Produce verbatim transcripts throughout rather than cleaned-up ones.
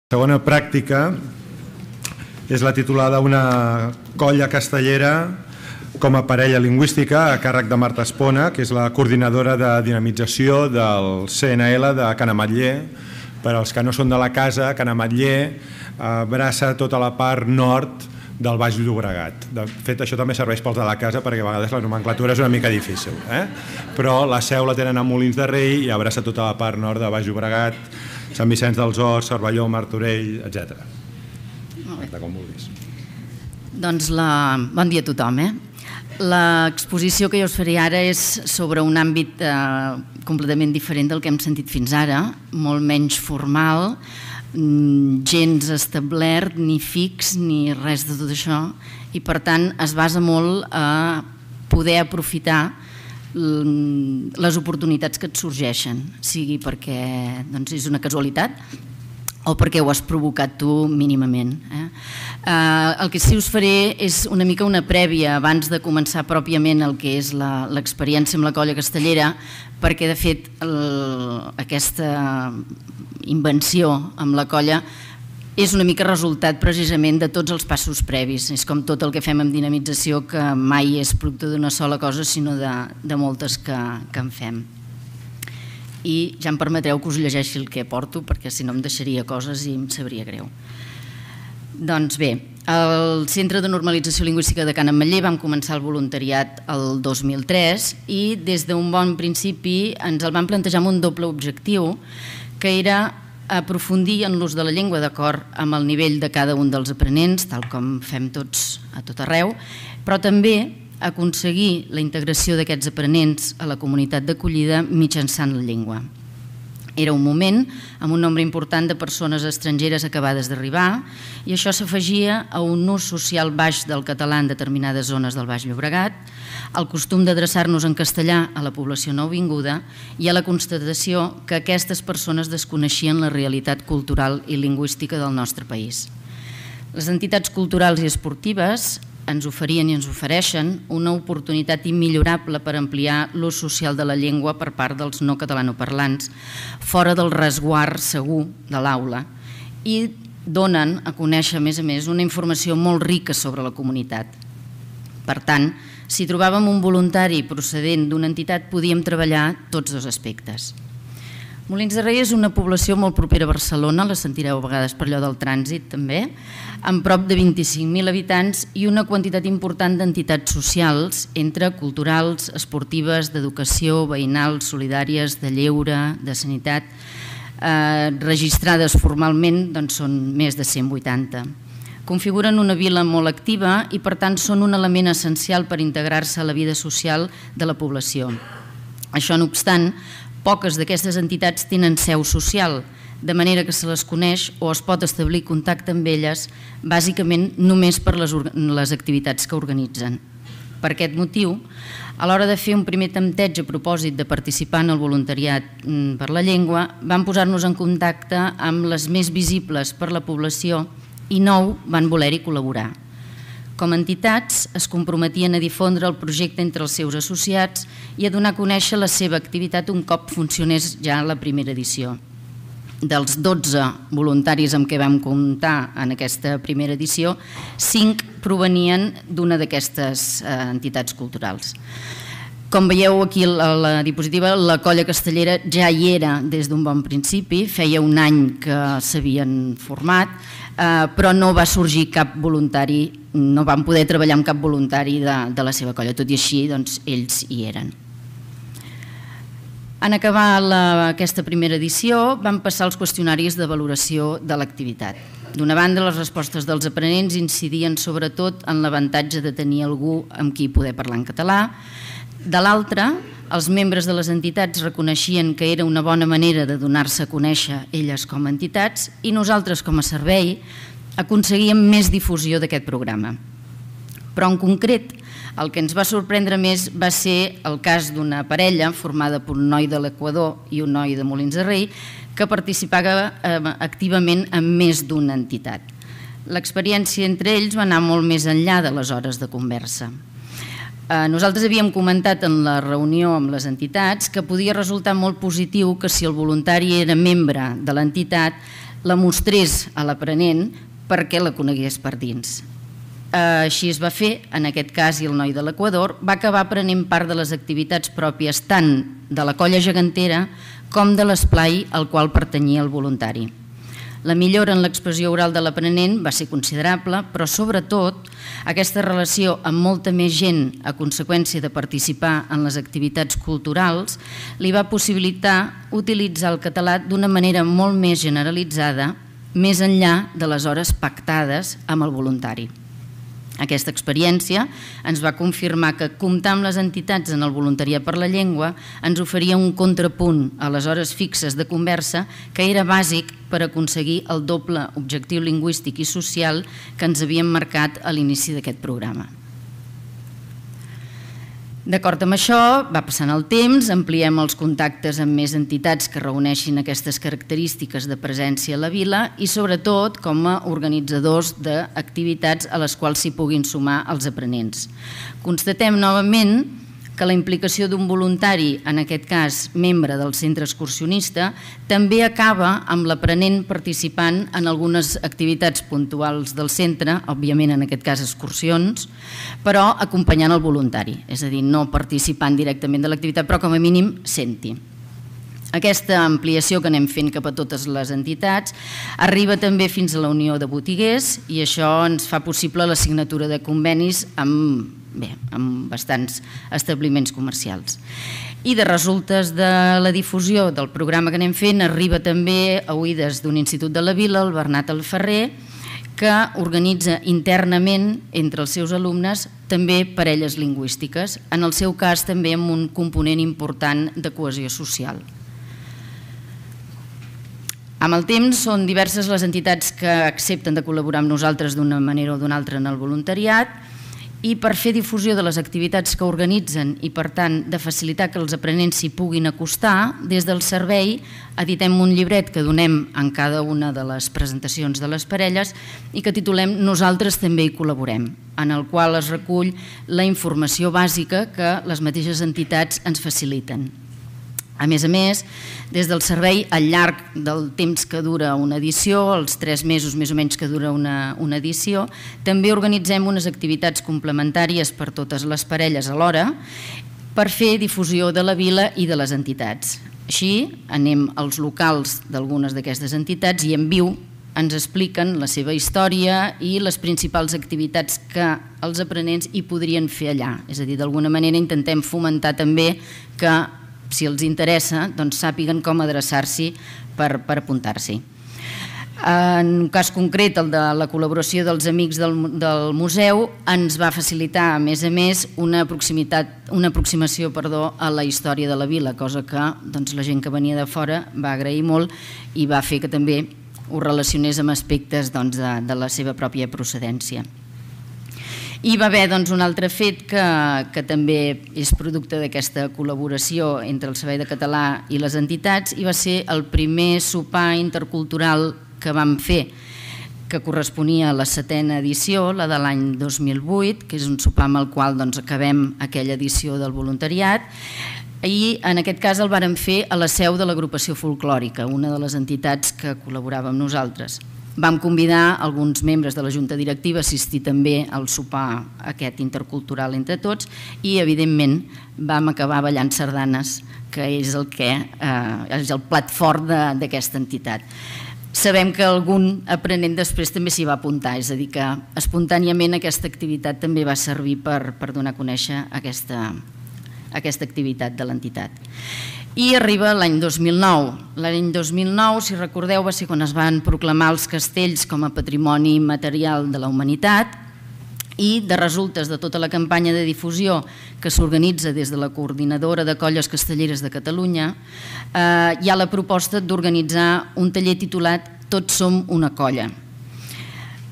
La segona pràctica és la titulada Una colla castellera com a parella lingüística a càrrec de Marta Espona, que és la coordinadora de dinamització del C N L de Can Ametller. Per als que no són de la casa, Can Ametller abraça tota la part nord del Baix Llobregat. De fet, això també serveix pels de la casa perquè a vegades la nomenclatura és una mica difícil, eh? Però la seu la tenen a Molins de Rei i abraça tota la part nord de Baix Llobregat, Sant Vicenç dels Horts, Cervelló, Martorell, etcètera. Com vulguis. Doncs la... bon dia a tothom. Eh? L'exposició que jo us faré ara és sobre un àmbit eh, completament diferent del que hem sentit fins ara, molt menys formal, gens establert, ni fix, ni res de tot això, i per tant es basa molt a poder aprofitar les oportunitats que et sorgeixen, sigui perquè doncs, és una casualitat o perquè ho has provocat tu mínimament. Eh? Eh, el que sí us faré és una mica una prèvia abans de començar pròpiament el que és l'experiència amb la colla castellera, perquè de fet el, aquesta invenció amb la colla és una mica resultat precisament de tots els passos previs. És com tot el que fem amb dinamització, que mai és producte d'una sola cosa, sinó de, de moltes que, que en fem. I ja em permetreu que us llegeixi el que porto, perquè si no em deixaria coses i em sabria greu. Doncs bé, al Centre de Normalització Lingüística de Can Ametller vam començar el voluntariat el dos mil tres i des d'un bon principi ens el vam plantejar amb un doble objectiu, que era aprofundir en l'ús de la llengua d'acord amb el nivell de cada un dels aprenents, tal com fem tots a tot arreu, però també aconseguir la integració d'aquests aprenents a la comunitat d'acollida mitjançant la llengua. Era un moment amb un nombre important de persones estrangeres acabades d'arribar i això s'afegia a un ús social baix del català en determinades zones del Baix Llobregat, al costum d'adreçar-nos en castellà a la població nouvinguda i a la constatació que aquestes persones desconeixien la realitat cultural i lingüística del nostre país. Les entitats culturals i esportives ens oferien i ens ofereixen una oportunitat immillorable per ampliar l'ús social de la llengua per part dels no catalanoparlants, fora del resguard segur de l'aula, i donen a conèixer, a més a més, una informació molt rica sobre la comunitat. Per tant, si trobàvem un voluntari procedent d'una entitat, podíem treballar tots dos aspectes. Molins de Rei és una població molt propera a Barcelona, la sentireu a vegades per allò del trànsit també, amb prop de vint-i-cinc mil habitants i una quantitat important d'entitats socials, entre culturals, esportives, d'educació, veïnals, solidàries, de lleure, de sanitat, eh, registrades formalment doncs són més de cent vuitanta. Configuren una vila molt activa i per tant són un element essencial per integrar-se a la vida social de la població. Això no obstant, poques d'aquestes entitats tenen seu social, de manera que se les coneix o es pot establir contacte amb elles bàsicament només per les, les activitats que organitzen. Per aquest motiu, a l'hora de fer un primer tempteig a propòsit de participar en el voluntariat per la llengua, vam posar-nos en contacte amb les més visibles per la població i nou van voler-hi col·laborar. Com a entitats, es comprometien a difondre el projecte entre els seus associats i a donar a conèixer la seva activitat un cop funcionés ja la primera edició. Dels dotze voluntaris amb què vam comptar en aquesta primera edició, cinc provenien d'una d'aquestes entitats culturals. Com veieu aquí a la diapositiva, la colla castellera ja hi era des d'un bon principi, feia un any que s'havien format, però no va sorgir cap voluntari, no van poder treballar amb cap voluntari de, de la seva colla, tot i així doncs, ells hi eren. En acabar la, aquesta primera edició van passar els qüestionaris de valoració de l'activitat. D'una banda, les respostes dels aprenents incidien sobretot en l'avantatge de tenir algú amb qui poder parlar en català. De l'altra, els membres de les entitats reconeixien que era una bona manera de donar-se a conèixer elles com a entitats i nosaltres com a servei aconseguíem més difusió d'aquest programa. Però en concret, el que ens va sorprendre més va ser el cas d'una parella formada per un noi de l'Equador i un noi de Molins de Rei que participava activament en més d'una entitat. L'experiència entre ells va anar molt més enllà de les hores de conversa. Nosaltres havíem comentat en la reunió amb les entitats que podia resultar molt positiu que si el voluntari era membre de l'entitat la mostrés a l'aprenent perquè la conegués per dins. Així es va fer, en aquest cas, i el noi de l'Equador va acabar aprenent part de les activitats pròpies tant de la colla gegantera com de l'esplai al qual pertanyia el voluntari. La millora en l'expressió oral de l'aprenent va ser considerable, però sobretot aquesta relació amb molta més gent a conseqüència de participar en les activitats culturals li va possibilitar utilitzar el català d'una manera molt més generalitzada, més enllà de les hores pactades amb el voluntari. Aquesta experiència ens va confirmar que comptar amb les entitats en el voluntariat per la llengua ens oferia un contrapunt a les hores fixes de conversa que era bàsic per aconseguir el doble objectiu lingüístic i social que ens havíem marcat a l'inici d'aquest programa. D'acord amb això, va passant el temps, ampliem els contactes amb més entitats que reuneixin aquestes característiques de presència a la vila i sobretot com a organitzadors d'activitats a les quals s'hi puguin sumar els aprenents. Constatem novament que la implicació d'un voluntari, en aquest cas membre del centre excursionista, també acaba amb l'aprenent participant en algunes activitats puntuals del centre, òbviament en aquest cas excursions, però acompanyant el voluntari, és a dir, no participant directament de l'activitat, però com a mínim senti. Aquesta ampliació que anem fent cap a totes les entitats arriba també fins a la Unió de Botiguers i això ens fa possible la signatura de convenis amb, bé, amb bastants establiments comercials. I de resultes de la difusió del programa que anem fent arriba també a oïdes d'un institut de la vila, el Bernat Alferrer, que organitza internament entre els seus alumnes també parelles lingüístiques, en el seu cas també amb un component important de cohesió social. Amb el temps són diverses les entitats que accepten de col·laborar amb nosaltres d'una manera o d'una altra en el voluntariat i per fer difusió de les activitats que organitzen i per tant de facilitar que els aprenents s'hi puguin acostar, des del servei editem un llibret que donem en cada una de les presentacions de les parelles i que titulem Nosaltres també hi col·laborem, en el qual es recull la informació bàsica que les mateixes entitats ens faciliten. A més a més, des del servei, al llarg del temps que dura una edició, els tres mesos més o menys que dura una, una edició, també organitzem unes activitats complementàries per totes les parelles alhora per fer difusió de la vila i de les entitats. Així, anem als locals d'algunes d'aquestes entitats i en viu ens expliquen la seva història i les principals activitats que els aprenents hi podrien fer allà. És a dir, d'alguna manera intentem fomentar també que si els interessa, doncs sàpiguen com adreçar-s'hi per, per apuntar-s'hi. En un cas concret, el de la col·laboració dels amics del, del museu, ens va facilitar, a més a més, una, proximitat, una aproximació perdó, a la història de la vila, cosa que doncs, la gent que venia de fora va agrair molt i va fer que també ho relacionés amb aspectes doncs, de, de la seva pròpia procedència. I va haver doncs, un altre fet que, que també és producte d'aquesta col·laboració entre el Servei de Català i les entitats i va ser el primer sopar intercultural que vam fer, que corresponia a la setena edició, la de l'any dos mil vuit, que és un sopar amb el qual doncs, acabem aquella edició del voluntariat i en aquest cas el vàrem fer a la seu de l'agrupació folclòrica, una de les entitats que col·laborava amb nosaltres. Vam convidar alguns membres de la Junta Directiva a assistir també al sopar aquest intercultural entre tots i, evidentment, vam acabar ballant sardanes, que és el, que, eh, és el plat fort d'aquesta entitat. Sabem que algun aprenent després també s'hi va apuntar, és a dir, que espontàniament aquesta activitat també va servir per, per donar a conèixer aquesta, aquesta activitat de l'entitat. I arriba l'any dos mil nou. L'any dos mil nou, si recordeu, va ser quan es van proclamar els castells com a patrimoni material de la humanitat i de resultes de tota la campanya de difusió que s'organitza des de la Coordinadora de Colles Castelleres de Catalunya, eh, hi ha la proposta d'organitzar un taller titulat Tots som una colla.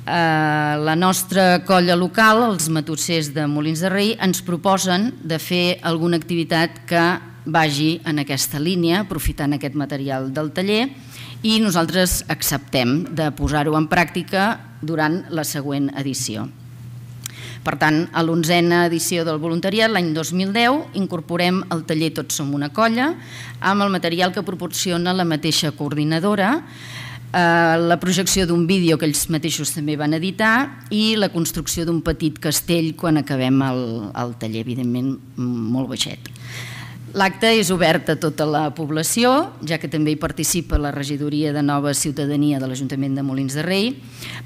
La nostra colla local, els matossers de Molins de Rei, ens proposen de fer alguna activitat que vagi en aquesta línia, aprofitant aquest material del taller, i nosaltres acceptem de posar-ho en pràctica durant la següent edició. Per tant, a l'onzena edició del voluntariat, l'any dos mil deu, incorporem el taller Tots som una colla, amb el material que proporciona la mateixa coordinadora, la projecció d'un vídeo que ells mateixos també van editar i la construcció d'un petit castell quan acabem el taller, evidentment molt baixet. L'acte és obert a tota la població, ja que també hi participa la regidoria de Nova Ciutadania de l'Ajuntament de Molins de Rei,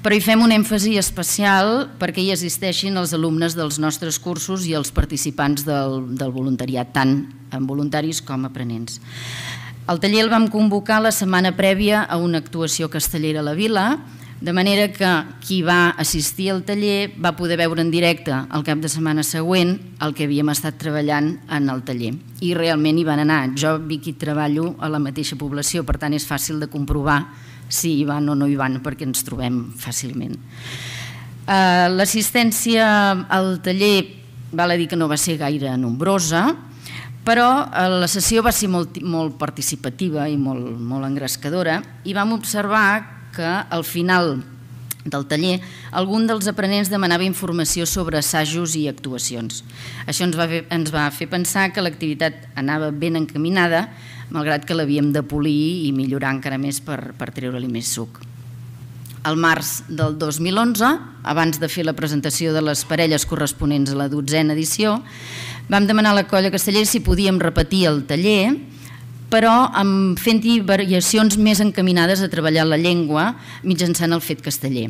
però hi fem un èmfasi especial perquè hi assisteixin els alumnes dels nostres cursos i els participants del voluntariat, tant voluntaris com aprenents. El taller el vam convocar la setmana prèvia a una actuació castellera a la vila, de manera que qui va assistir al taller va poder veure en directe el cap de setmana següent el que havíem estat treballant en el taller. I realment hi van anar. Jo, Vicky, treballo a la mateixa població, per tant és fàcil de comprovar si hi van o no hi van, perquè ens trobem fàcilment. L'assistència al taller val a dir que no va ser gaire nombrosa, però la sessió va ser molt participativa i molt engrescadora i vam observar que al final del taller algun dels aprenents demanava informació sobre assajos i actuacions. Això ens va fer pensar que l'activitat anava ben encaminada, malgrat que l'havíem de polir i millorar encara més per treure-li més suc. Al març del dos mil onze, abans de fer la presentació de les parelles corresponents a la dotzena edició, vam demanar a la colla castellera si podíem repetir el taller, però fent-hi variacions més encaminades a treballar la llengua mitjançant el fet casteller.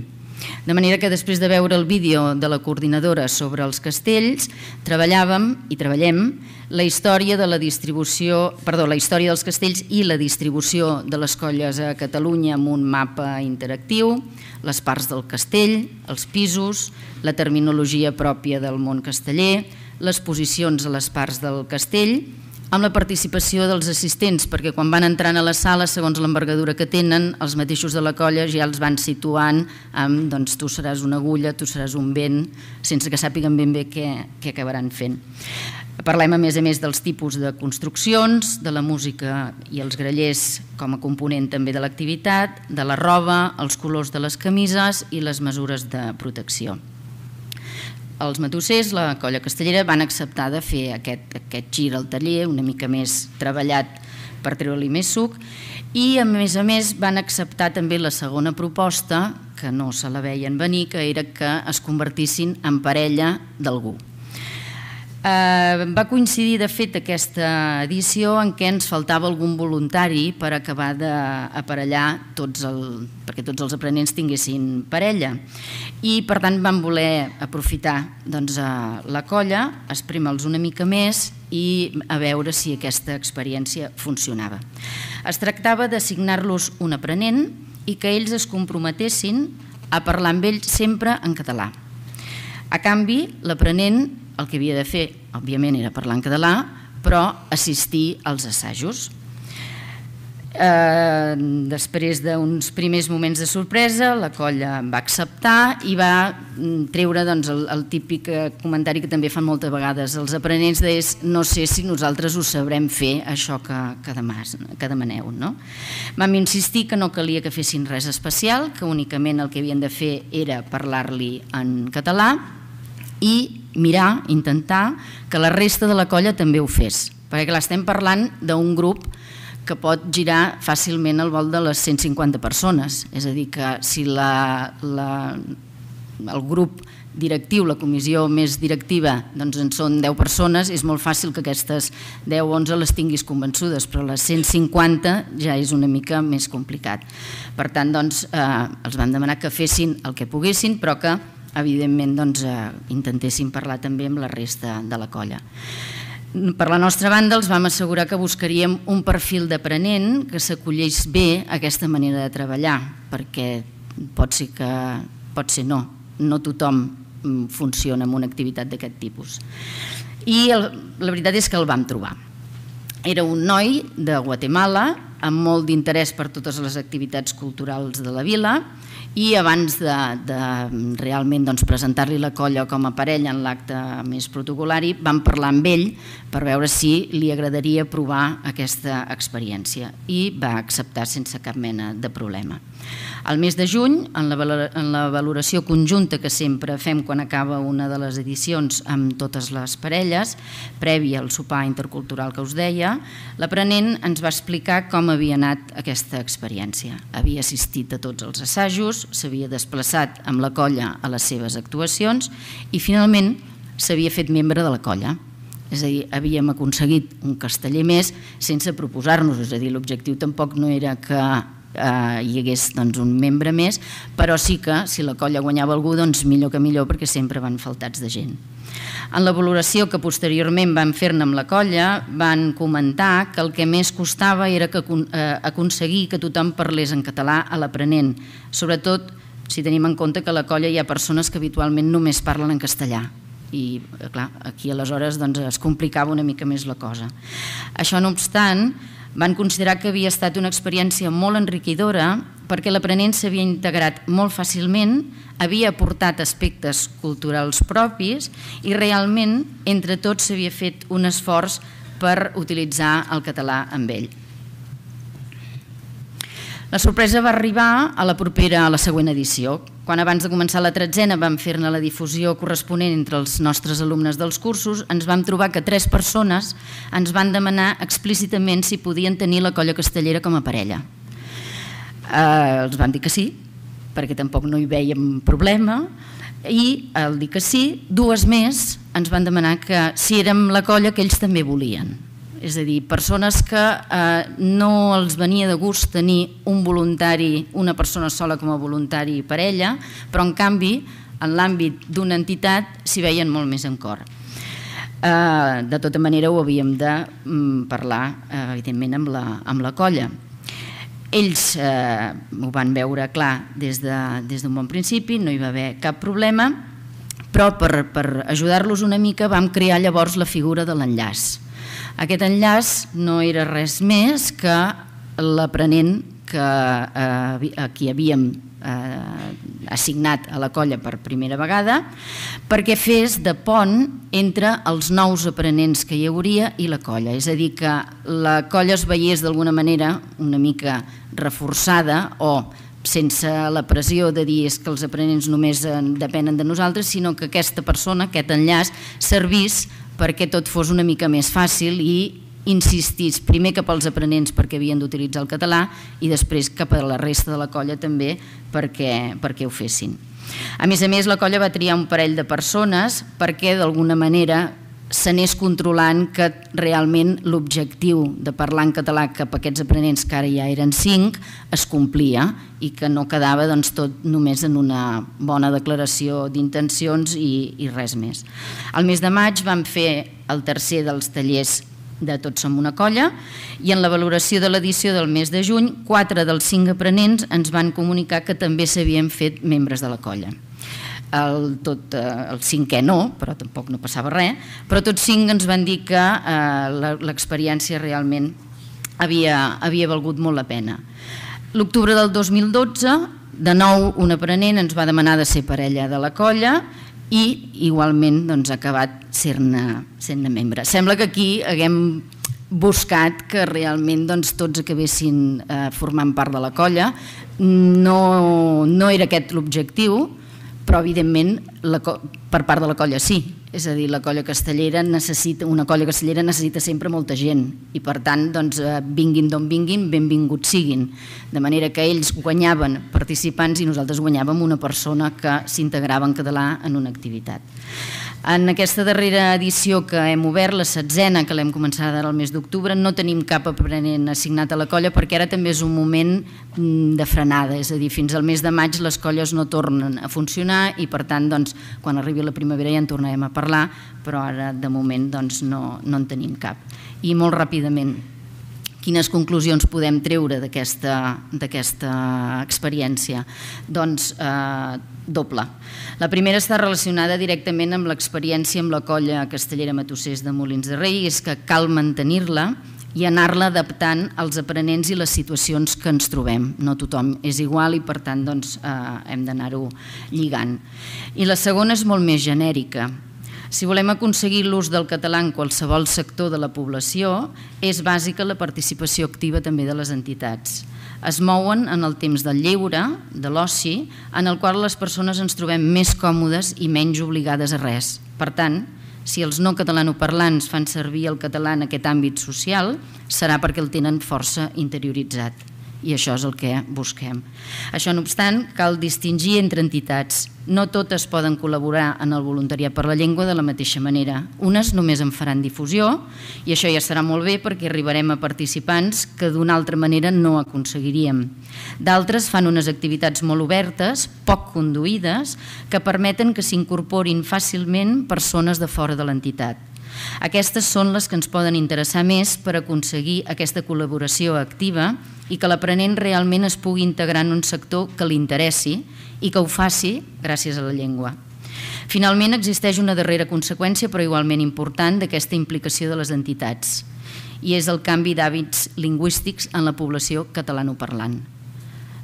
De manera que després de veure el vídeo de la coordinadora sobre els castells, treballàvem i treballem la història de la distribució, perdó, la història dels castells i la distribució de les colles a Catalunya amb un mapa interactiu, les parts del castell, els pisos, la terminologia pròpia del món casteller, les posicions a les parts del castell, amb la participació dels assistents, perquè quan van entrant a la sala, segons l'envergadura que tenen, els mateixos de la colla ja els van situant amb, doncs, tu seràs una agulla, tu seràs un vent, sense que sàpiguen ben bé què acabaran fent. Parlem, a més a més, dels tipus de construccions, de la música i els grallers com a component també de l'activitat, de la roba, els colors de les camises i les mesures de protecció. Els matossers, la colla castellera, van acceptar de fer aquest gir al taller una mica més treballat per treure-li més suc i, a més a més, van acceptar també la segona proposta, que no se la veien venir, que era que es convertissin en parella d'algú. Va coincidir, de fet, aquesta edició en què ens faltava algun voluntari per acabar d'aparellar perquè tots els aprenents tinguessin parella. I, per tant, vam voler aprofitar la colla, esprémer-los una mica més i a veure si aquesta experiència funcionava. Es tractava d'assignar-los un aprenent i que ells es comprometessin a parlar amb ells sempre en català. A canvi, l'aprenent el que havia de fer, òbviament, era parlar en català, però assistir als assajos. Després d'uns primers moments de sorpresa, la colla va acceptar i va treure el típic comentari que també fan moltes vegades els aprenents, de no sé si nosaltres ho sabrem fer, això que demaneu. Vam insistir que no calia que fessin res especial, que únicament el que havien de fer era parlar-li en català i mirar, intentar, que la resta de la colla també ho fes, perquè clar, estem parlant d'un grup que pot girar fàcilment al volt de les cent cinquanta persones, és a dir, que si el grup directiu, la comissió més directiva, doncs en són deu persones, és molt fàcil que aquestes deu o onze les tinguis convençudes, però les cent cinquanta ja és una mica més complicat. Per tant, doncs, els vam demanar que fessin el que poguessin, però que evidentment intentéssim parlar també amb la resta de la colla. Per la nostra banda els vam assegurar que buscaríem un perfil d'aprenent que s'acollís bé a aquesta manera de treballar, perquè pot ser que, pot ser no, no tothom funciona amb una activitat d'aquest tipus. I la veritat és que el vam trobar. Era un noi de Guatemala amb molt d'interès per totes les activitats culturals de la vila i abans de, de realment doncs, presentar-li la colla com a parella en l'acte més protocolari vam parlar amb ell per veure si li agradaria provar aquesta experiència i va acceptar sense cap mena de problema. Al mes de juny, en la valoració conjunta que sempre fem quan acaba una de les edicions amb totes les parelles, prèvia al sopar intercultural que us deia, l'aprenent ens va explicar com havia anat aquesta experiència. Havia assistit a tots els assajos, s'havia desplaçat amb la colla a les seves actuacions i finalment s'havia fet membre de la colla. És a dir, havíem aconseguit un casteller més sense proposar-nos, és a dir, l'objectiu tampoc no era que hi hagués un membre més, però sí que si la colla guanyava algú, doncs millor que millor, perquè sempre van faltats de gent. En la valoració que posteriorment van fer-ne amb la colla, van comentar que el que més costava era aconseguir que tothom parlés en català a l'aprenent, sobretot si tenim en compte que a la colla hi ha persones que habitualment només parlen en castellà. I clar, aquí aleshores es complicava una mica més la cosa. Això no obstant, van considerar que havia estat una experiència molt enriquidora perquè l'aprenent s'havia integrat molt fàcilment, havia aportat aspectes culturals propis i realment entre tots s'havia fet un esforç per utilitzar el català amb ell. La sorpresa va arribar a la propera, a la següent edició, quan abans de començar la tretzena vam fer-ne la difusió corresponent entre els nostres alumnes dels cursos, ens vam trobar que tres persones ens van demanar explícitament si podien tenir la colla castellera com a parella. Eh, els vam dir que sí, perquè tampoc no hi vèiem problema, i al dir que sí, dues més ens van demanar que si érem la colla que ells també volien. És a dir, persones que no els venia de gust tenir un voluntari, una persona sola com a voluntari i parella, però en canvi en l'àmbit d'una entitat s'hi veien molt més en cor. De tota manera ho havíem de parlar evidentment amb la colla. Ells ho van veure clar des d'un bon principi, no hi va haver cap problema, però per ajudar-los una mica vam crear llavors la figura de l'enllaç. Aquest enllaç no era res més que l'aprenent a qui havíem assignat a la colla per primera vegada perquè fes de pont entre els nous aprenents que hi hauria i la colla. És a dir, que la colla es veiés d'alguna manera una mica reforçada o sense la pressió de dir que els aprenents només depenen de nosaltres, sinó que aquesta persona, aquest enllaç, servís perquè tot fos una mica més fàcil i insistís primer cap als aprenents perquè havien d'utilitzar el català i després cap a la resta de la colla també perquè ho fessin. A més a més, la colla va triar un parell de persones perquè d'alguna manera s'anés controlant que realment l'objectiu de parlar en català cap a aquests aprenents, que ara ja eren cinc, es complia i que no quedava tot només en una bona declaració d'intencions i res més. Al mes de maig vam fer el tercer dels tallers de Tots som una colla i en la valoració de l'edició del mes de juny, quatre dels cinc aprenents ens van comunicar que també s'havien fet membres de la colla. El cinquè no, però tampoc no passava res, però tots cinc ens van dir que l'experiència realment havia valgut molt la pena. L'octubre del dos mil dotze, de nou un aprenent ens va demanar de ser parella de la colla i igualment ha acabat sent-ne membre. Sembla que aquí haguem buscat que realment tots acabessin formant part de la colla. No era aquest l'objectiu, però evidentment per part de la colla sí, és a dir, la colla castellera necessita, una colla castellera necessita sempre molta gent i per tant vinguin d'on vinguin, benvinguts siguin, de manera que ells guanyaven participants i nosaltres guanyàvem una persona que s'integrava en català en una activitat. En aquesta darrera edició que hem obert, la setzena, que l'hem començat ara el mes d'octubre, no tenim cap aprenent assignat a la colla perquè ara també és un moment de frenada, és a dir, fins al mes de maig les colles no tornen a funcionar i per tant quan arribi la primavera ja en tornarem a parlar, però ara de moment no en tenim cap. I molt ràpidament, quines conclusions podem treure d'aquesta experiència? Doncs doble. La primera està relacionada directament amb l'experiència amb la colla castellera Matossers de Molins de Rei, és que cal mantenir-la i anar-la adaptant als aprenents i les situacions que ens trobem. No tothom és igual i, per tant, doncs, eh, hem d'anar-ho lligant. I la segona és molt més genèrica. Si volem aconseguir l'ús del català en qualsevol sector de la població, és bàsica la participació activa també de les entitats. Es mouen en el temps del lleure, de l'oci, en el qual les persones ens trobem més còmodes i menys obligades a res. Per tant, si els no catalanoparlants fan servir el català en aquest àmbit social, serà perquè el tenen força interioritzat. I això és el que busquem. Això no obstant, cal distingir entre entitats. No totes poden col·laborar en el voluntariat per la llengua de la mateixa manera. Unes només en faran difusió i això ja serà molt bé perquè arribarem a participants que d'una altra manera no aconseguiríem. D'altres fan unes activitats molt obertes, poc conduïdes, que permeten que s'incorporin fàcilment persones de fora de l'entitat. Aquestes són les que ens poden interessar més per aconseguir aquesta col·laboració activa i que l'aprenent realment es pugui integrar en un sector que li interessi i que ho faci gràcies a la llengua. Finalment, existeix una darrera conseqüència, però igualment important, d'aquesta implicació de les entitats, i és el canvi d'hàbits lingüístics en la població catalanoparlant.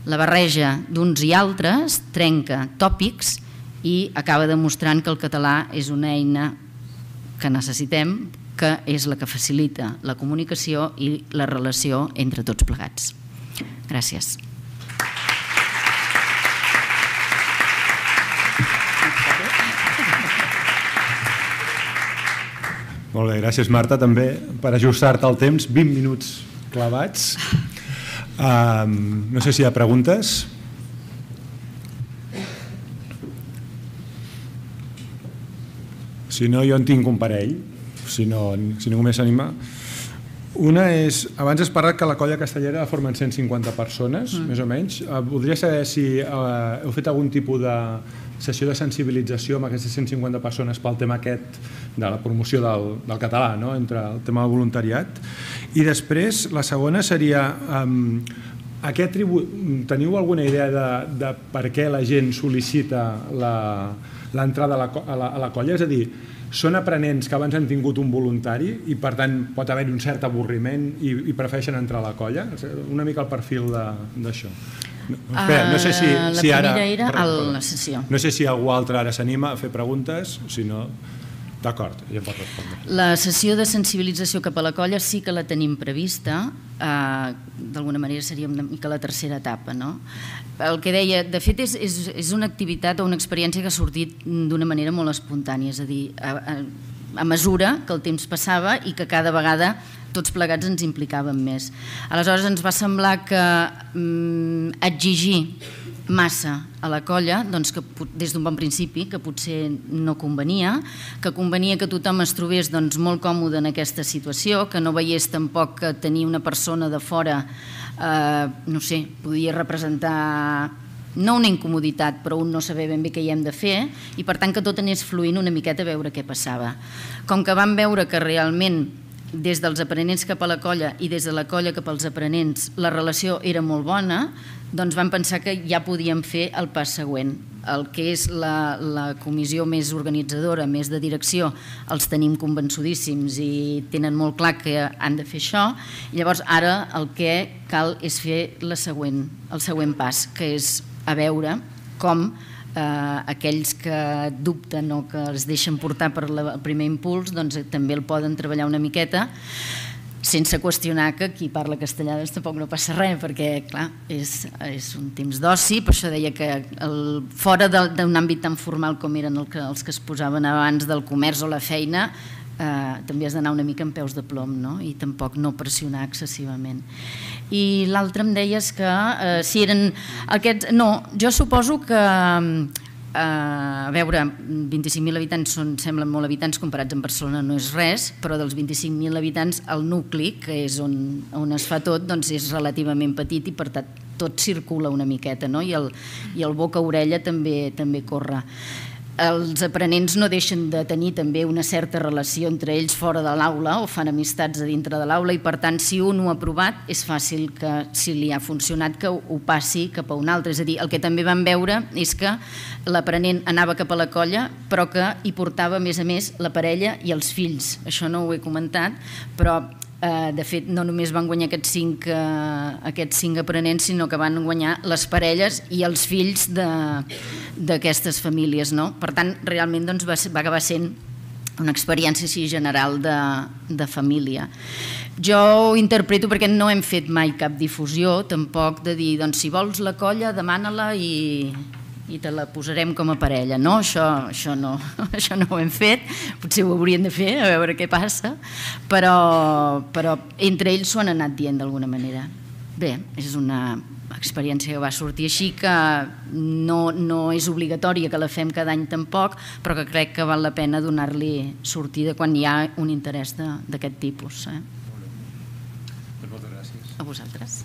La barreja d'uns i altres trenca tòpics i acaba demostrant que el català és una eina que necessitem, que és la que facilita la comunicació i la relació entre tots plegats. Gràcies. Molt bé, gràcies Marta, també per ajustar-te al temps, vint minuts clavats. Um, no sé si hi ha preguntes. Si no, jo en tinc un parell, si, no, si ningú més s'anima. Una és, abans has parlat que la colla castellera formen cent cinquanta persones, mm. més o menys. Voldria saber si eh, heu fet algun tipus de sessió de sensibilització amb aquestes cent cinquanta persones pel tema aquest de la promoció del, del català, no? Entre el tema del voluntariat. I després, la segona seria... Um, aquest tribu... Teniu alguna idea de, de per què la gent sol·licita l'entrada a, a, a la colla? És a dir, són aprenents que abans han tingut un voluntari i per tant pot haver-hi un cert avorriment i, i prefereixen entrar a la colla? Una mica el perfil d'això. No, espera, no sé si, uh, si ara... La primera era a la sessió. No sé si algú altre ara s'anima a fer preguntes, si no... D'acord, ja pot respondre. La sessió de sensibilització cap a la colla sí que la tenim prevista, eh, d'alguna manera seria una mica la tercera etapa, no? El que deia, de fet és, és, és una activitat o una experiència que ha sortit d'una manera molt espontània, és a dir, a, a, a mesura que el temps passava i que cada vegada tots plegats ens implicàvem més. Aleshores ens va semblar que mm, exigir massa a la colla, doncs que des d'un bon principi, que potser no convenia, que convenia que tothom es trobés doncs, molt còmode en aquesta situació, que no veiés tampoc que tenir una persona de fora, eh, no sé, podia representar no una incomoditat, però un no saber ben bé què hi hem de fer, i per tant que tot anés fluint una miqueta a veure què passava. Com que vam veure que realment des dels aprenents cap a la colla i des de la colla cap als aprenents la relació era molt bona, doncs vam pensar que ja podíem fer el pas següent. El que és la, la comissió més organitzadora, més de direcció, els tenim convençudíssims i tenen molt clar que han de fer això. I llavors ara el que cal és fer la següent, el següent pas, que és a veure com eh, aquells que dubten o que es deixen portar per la, el primer impuls doncs també el poden treballar una miqueta, sense qüestionar que qui parla castellà tampoc no passa res, perquè clar, és, és un temps d'oci, per això deia que el, fora d'un àmbit tan formal com eren el que, els que es posaven abans del comerç o la feina, eh, també has d'anar una mica amb peus de plom, no? I tampoc no pressionar excessivament. I l'altre em deies que eh, si eren aquests... No, jo suposo que... Uh, a veure, vint-i-cinc mil habitants són, semblen molt habitants comparats amb Barcelona, no és res, però dels vint-i-cinc mil habitants el nucli, que és on, on es fa tot, doncs és relativament petit i per tant tot circula una miqueta, no? I el, i el boca-orella també, també corre. Els aprenents no deixen de tenir també una certa relació entre ells fora de l'aula o fan amistats a dintre de l'aula i per tant si un ho ha provat és fàcil que si li ha funcionat que ho passi cap a un altre. És a dir, el que també vam veure és que l'aprenent anava cap a la colla però que hi portava a més a més la parella i els fills. Això no ho he comentat, però De fet, no només van guanyar aquests cinc, aquests cinc aprenents, sinó que van guanyar les parelles i els fills d'aquestes famílies. Per tant, realment va acabar sent una experiència així general de família. Jo ho interpreto perquè no hem fet mai cap difusió, tampoc de dir, doncs si vols la colla, demana-la i... i te la posarem com a parella. No, això no ho hem fet, potser ho haurien de fer, a veure què passa, però entre ells s'ho han anat dient d'alguna manera. Bé, és una experiència que va sortir així, que no és obligatòria que la fem cada any tampoc, però que crec que val la pena donar-li sortida quan hi ha un interès d'aquest tipus. Moltes gràcies. A vosaltres.